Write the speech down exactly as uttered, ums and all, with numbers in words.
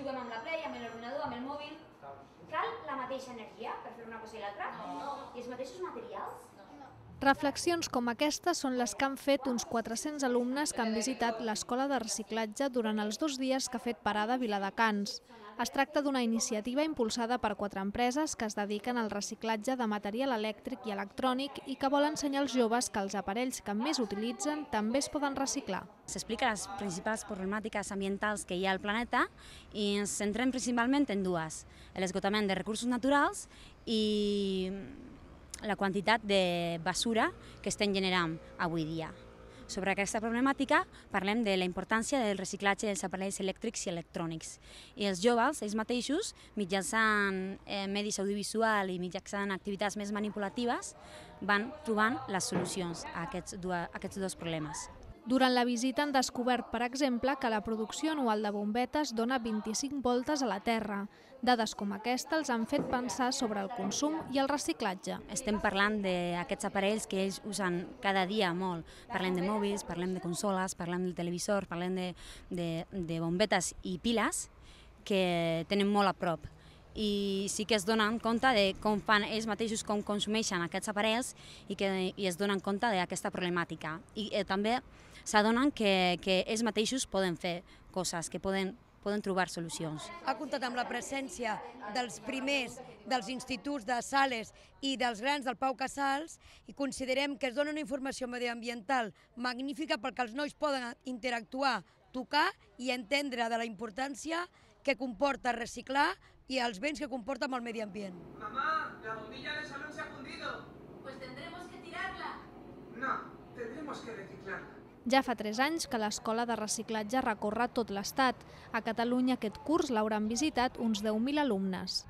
juguem amb la Play, amb l'ordinador, amb el mòbil. Cal la mateixa energia per fer una cosa i l'altra? No. I els mateixos materials? Reflexions com aquestes són les que han fet uns quatre-cents alumnes que han visitat l'escola de reciclatge durant els dos dies que ha fet parada a Viladecans. Es tracta d'una iniciativa impulsada per quatre empreses que es dediquen al reciclatge de material elèctric i electrònic i que vol ensenyar als joves que els aparells que més utilitzen també es poden reciclar. S'explica les principals problemàtiques ambientals que hi ha al planeta i ens centrem principalment en dues: l'esgotament de recursos naturals i la quantitat de basura que estem generant avui dia. Sobre aquesta problemàtica parlem de la importància del reciclatge dels aparells elèctrics i electrònics. I els joves, ells mateixos, mitjançant eh, medis audiovisuals i mitjançant activitats més manipulatives, van trobant les solucions a aquests, a aquests dos problemes. Durant la visita han descobert, per exemple, que la producció anual de bombetes dona vint-i-cinc voltes a la Terra. Dades com aquesta els han fet pensar sobre el consum i el reciclatge. Estem parlant d'aquests aparells que ells usen cada dia molt. Parlem de mòbils, parlem de consoles, parlem del televisor, parlem de, de, de bombetes i piles que tenen molt a prop. I sí que es donen compte de com fan ells mateixos, com consumeixen aquests aparells i que i es donen compte d'aquesta problemàtica. I eh, també s'adonen que, que ells mateixos poden fer coses, que poden, poden trobar solucions. Ha comptat amb la presència dels primers dels instituts de Sales i dels grans del Pau Casals i considerem que es dona una informació mediambiental magnífica perquè els nois poden interactuar, tocar i entendre de la importància que comporta reciclar y a los béns que comporta el medio ambiente. Mamá, la bombilla del salón se ha fundido. Pues tendremos que tirarla. No, tendremos que reciclarla. Ja fa tres anys que l'escola de reciclatge recorre tot l'estat. A Catalunya aquest curs l'hauran visitat uns deu mil alumnes.